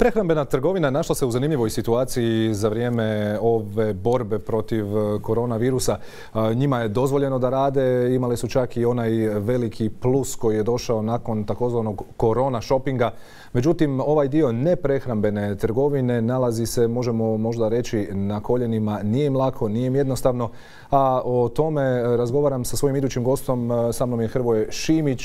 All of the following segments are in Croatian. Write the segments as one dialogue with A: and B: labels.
A: Prehrambena trgovina našla se u zanimljivoj situaciji za vrijeme ove borbe protiv koronavirusa. Njima je dozvoljeno da rade, imali su čak i onaj veliki plus koji je došao nakon takozvanog korona shoppinga. Međutim, ovaj dio neprehrambene trgovine nalazi se, možemo možda reći, na koljenima. Nije im lako, nije im jednostavno. A o tome razgovaram sa svojim idućim gostom. Sa mnom je Hrvoje Šimić,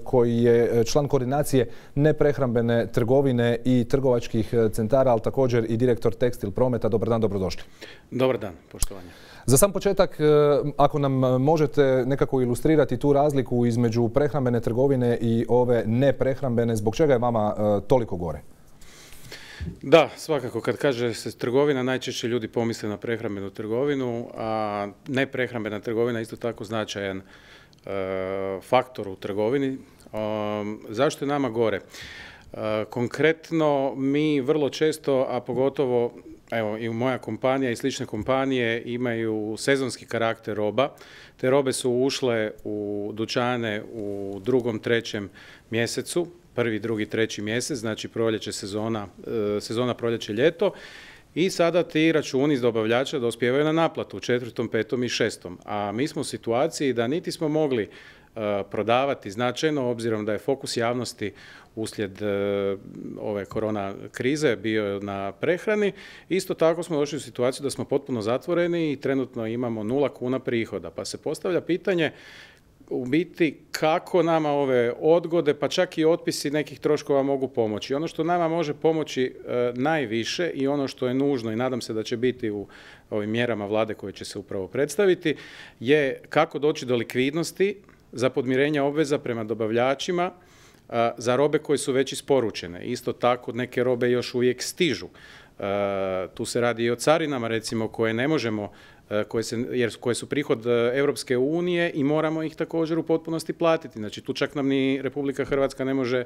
A: koji je član koordinacije neprehrambene trgovine i trgovačkih centara, ali također i direktor Tekstil Prometa. Dobar dan, dobrodošli.
B: Dobar dan, poštovanje.
A: Za sam početak, ako nam možete nekako ilustrirati tu razliku između prehrambene trgovine i ove neprehrambene, zbog čega je vama toliko gore?
B: Da, svakako kad kaže se trgovina, najčešće ljudi pomisle na prehrambenu trgovinu, a neprehrambena trgovina je isto tako značajan faktor u trgovini. Zašto je nama gore? Konkretno, mi vrlo često, a pogotovo evo, i moja kompanija i slične kompanije imaju sezonski karakter roba. Te robe su ušle u dućane u 2., 3. mjesecu, 1., 2., 3. mjesec, znači proljeće sezona proljeće ljeto. I sada ti računi iz dobavljača dospijevaju na naplatu u 4., 5. i 6. A mi smo u situaciji da niti smo mogli prodavati značajno, obzirom da je fokus javnosti uslijed ove korona krize bio na prehrani. Isto tako smo došli u situaciju da smo potpuno zatvoreni i trenutno imamo 0 kuna prihoda. Pa se postavlja pitanje u biti kako nama ove odgode, pa čak i otpisi nekih troškova mogu pomoći. Ono što nama može pomoći najviše i ono što je nužno i nadam se da će biti u ovim mjerama vlade koje će se upravo predstaviti, je kako doći do likvidnosti za podmirenje obveza prema dobavljačima za robe koje su već isporučene. Isto tako neke robe još uvijek stižu. Tu se radi i o carinama, recimo, koje ne možemo, koje su prihod Europske unije i moramo ih također u potpunosti platiti. Znači tu čak nam ni Republika Hrvatska ne može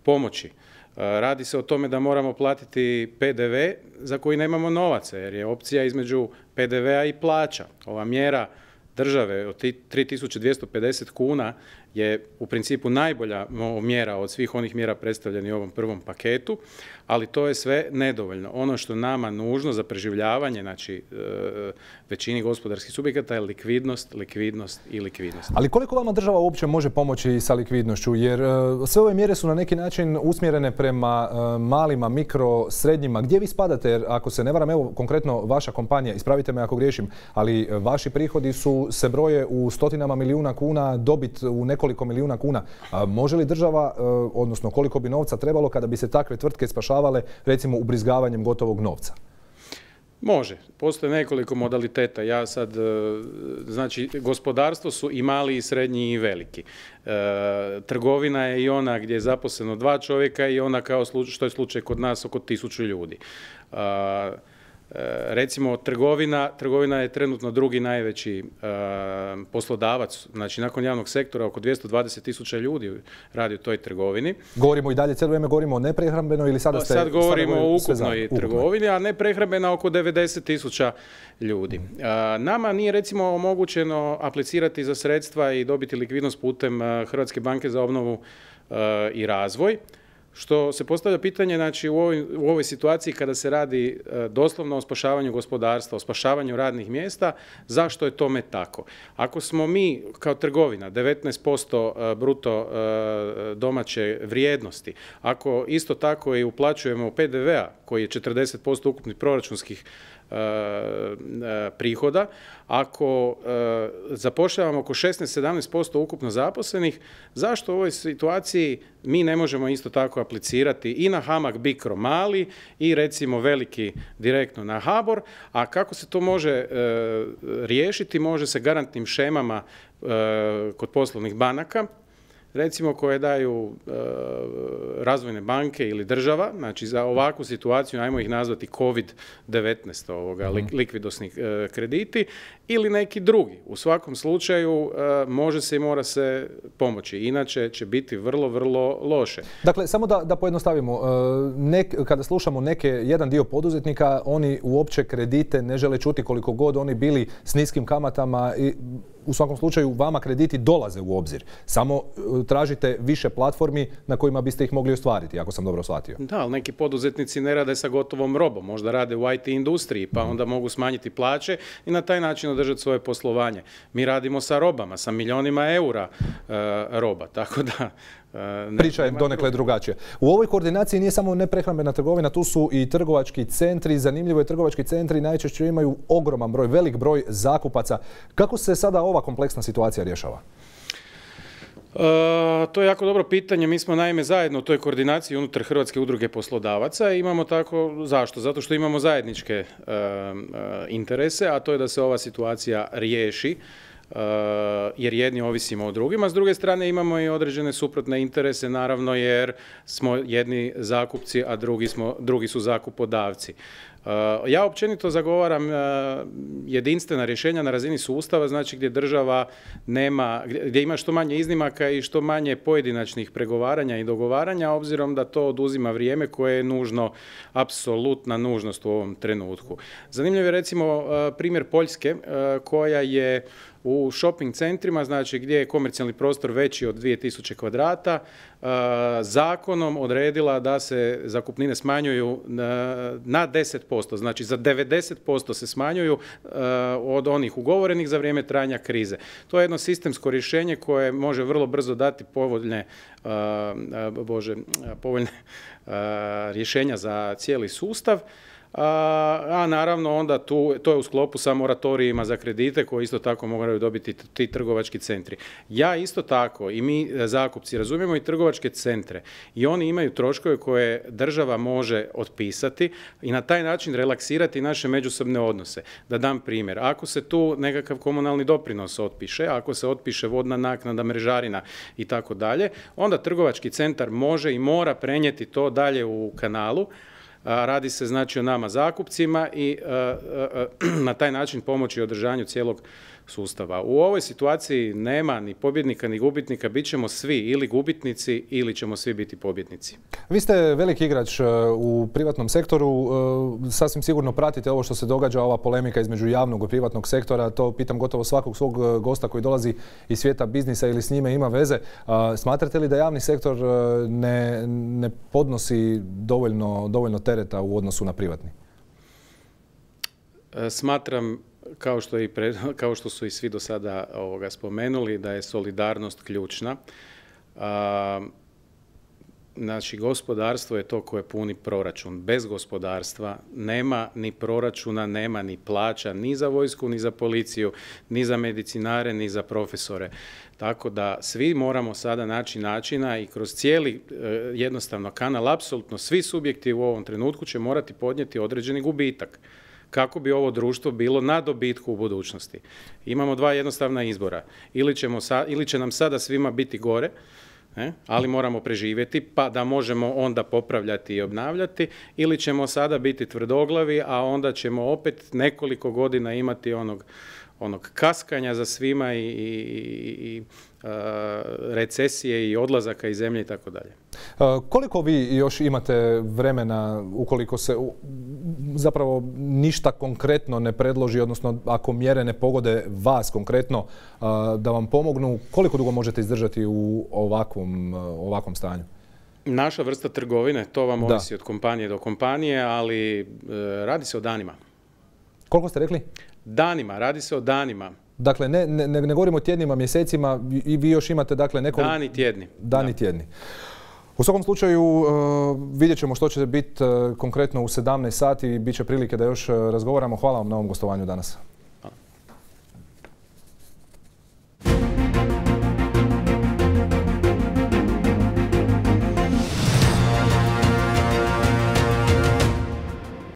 B: pomoći. Radi se o tome da moramo platiti PDV za koji nemamo novaca, jer je opcija između PDV-a i plaća. Ova mjera države od 3250 kuna je u principu najbolja mjera od svih onih mjera predstavljenih u ovom prvom paketu, ali to je sve nedovoljno. Ono što nama nužno za preživljavanje, znači većini gospodarskih subjekata, je likvidnost, likvidnost i likvidnost.
A: Ali koliko vama država uopće može pomoći sa likvidnošću? Jer sve ove mjere su na neki način usmjerene prema malima, mikro, srednjima. Gdje vi spadate? Jer ako se ne varam, evo konkretno vaša kompanija, ispravite me ako griješim, ali vaši prihodi se broje u stotinama milijuna kuna, dobit u nekoliko milijuna kuna. Može li država, odnosno koliko bi novca trebalo kada bi se takve tvrtke spašavale, recimo ubrizgavanjem gotovog novca?
B: Može. Postoje nekoliko modaliteta. Ja sad, znači, gospodarstvo su i mali i srednji i veliki. Trgovina je i ona gdje je zaposleno 2 čovjeka i ona kao što je slučaj kod nas oko 1000 ljudi. Recimo, trgovina je trenutno 2. najveći poslodavac, znači nakon javnog sektora oko 220.000 ljudi radi u toj trgovini.
A: Govorimo i dalje, cijelo vrijeme govorimo o neprehrambenoj ili sada ste...
B: Sad govorimo o ukupnoj trgovini, a neprehrambena oko 90.000 ljudi. Nama nije recimo omogućeno aplicirati za sredstva i dobiti likvidnost putem Hrvatske banke za obnovu i razvoj. Što se postavlja pitanje, znači u ovoj situaciji kada se radi doslovno o spašavanju gospodarstva, o spašavanju radnih mjesta, zašto je tome tako? Ako smo mi kao trgovina 19% bruto domaće vrijednosti, ako isto tako i uplaćujemo PDV-a koji je 40% ukupnih proračunskih prihoda, ako zapošljavamo oko 16-17% ukupno zaposlenih, zašto u ovoj situaciji mi ne možemo isto tako aplicirati i na HAMAG Bicro mali i recimo veliki direktno na HBOR, a kako se to može riješiti? Može se garantnim šemama kod poslovnih banaka, recimo koje daju razvojne banke ili država, znači za ovakvu situaciju, ajmo ih nazvati COVID-19, likvidosni krediti, ili neki drugi. U svakom slučaju može se i mora se pomoći, inače će biti vrlo, vrlo loše.
A: Dakle, samo da pojednostavimo, kada slušamo jedan dio poduzetnika, oni uopće kredite ne žele čuti koliko god oni bili s niskim kamatama. u svakom slučaju vama krediti dolaze u obzir. Samo tražite više platformi na kojima biste ih mogli ostvariti, ako sam dobro shvatio.
B: Da, ali neki poduzetnici ne rade sa gotovom robom, možda rade u IT industriji, pa onda mogu smanjiti plaće i na taj način održati svoje poslovanje. Mi radimo sa robama, sa milionima eura roba, tako da...
A: Priča je donekle drugačija. U ovoj koordinaciji nije samo neprehrambena trgovina, tu su i trgovački centri. Zanimljivo je, trgovački centri najčešće imaju ogroman broj, velik broj zakupaca. Kako se sada ova kompleksna situacija rješava?
B: To je jako dobro pitanje. Mi smo naime zajedno u toj koordinaciji unutar Hrvatske udruge poslodavaca i imamo tako, zašto? Zato što imamo zajedničke interese, a to je da se ova situacija riješi, jer jedni ovisimo o drugima. S druge strane imamo i određene suprotne interese, naravno, jer smo jedni zakupci, a drugi su zakupodavci. Ja općenito zagovaram jedinstvena rješenja na razini sustava, znači gdje država nema, gdje ima što manje iznimaka i što manje pojedinačnih pregovaranja i dogovaranja, obzirom da to oduzima vrijeme koje je nužno, apsolutna nužnost u ovom trenutku. Zanimljiv je recimo primjer Poljske, koja je u shopping centrima, znači gdje je komercijalni prostor veći od 2000 kvadrata, zakonom odredila da se zakupnine smanjuju na 10%, znači za 90% se smanjuju od onih ugovorenih za vrijeme trajanja krize. To je jedno sistemsko rješenje koje može vrlo brzo dati povoljne rješenja za cijeli sustav. A naravno onda to je u sklopu sa moratorijima za kredite koji isto tako moraju dobiti ti trgovački centri. Ja isto tako i mi zakupci razumijemo i trgovačke centre i oni imaju troškove koje država može otpisati i na taj način relaksirati naše međusobne odnose. Da dam primjer, ako se tu nekakav komunalni doprinos otpiše, ako se otpiše vodna naknada, mrežarina i tako dalje, onda trgovački centar može i mora prenijeti to dalje u kanalu. Radi se znači o nama zakupcima i na taj način pomoći održanju cijelog sustava. U ovoj situaciji nema ni pobjednika ni gubitnika, bit ćemo svi ili gubitnici ili ćemo svi biti pobjednici.
A: Vi ste veliki igrač u privatnom sektoru, sasvim sigurno pratite ovo što se događa, ova polemika između javnog i privatnog sektora, to pitam gotovo svakog svog gosta koji dolazi iz svijeta biznisa ili s njime ima veze. Smatrate li da javni sektor ne podnosi dovoljno tereta u odnosu na privatni?
B: Smatram, kao što su i svi do sada spomenuli, da je solidarnost ključna. Znači, gospodarstvo je to koje puni proračun. Bez gospodarstva nema ni proračuna, nema ni plaća, ni za vojsku, ni za policiju, ni za medicinare, ni za profesore. Tako da svi moramo sada naći načina i kroz cijeli jednostavno kanal, apsolutno svi subjekti u ovom trenutku će morati podnijeti određeni gubitak kako bi ovo društvo bilo na dobitku u budućnosti. Imamo dva jednostavna izbora. Ili će nam sada svima biti gore, ali moramo preživjeti pa da možemo onda popravljati i obnavljati, ili ćemo sada biti tvrdoglavi, a onda ćemo opet nekoliko godina imati onog kaskanja za svima i recesije i odlazaka iz zemlje i tako dalje.
A: Koliko vi još imate vremena ukoliko se zapravo ništa konkretno ne predloži, odnosno ako mjere ne pogode vas konkretno da vam pomognu, koliko dugo možete izdržati u ovakvom stanju?
B: Naša vrsta trgovine, to vam ovisi od kompanije do kompanije, ali radi se o danima.
A: Koliko ste rekli?
B: Danima, radi se o danima.
A: Dakle, ne govorimo o tjednima, mjesecima, i vi još imate dakle nekoliko...
B: Dani tjedni.
A: Dani tjedni. U svakom slučaju vidjet ćemo što će biti konkretno u 17 sati i bit će prilike da još razgovaramo. Hvala vam na ovom gostovanju danas.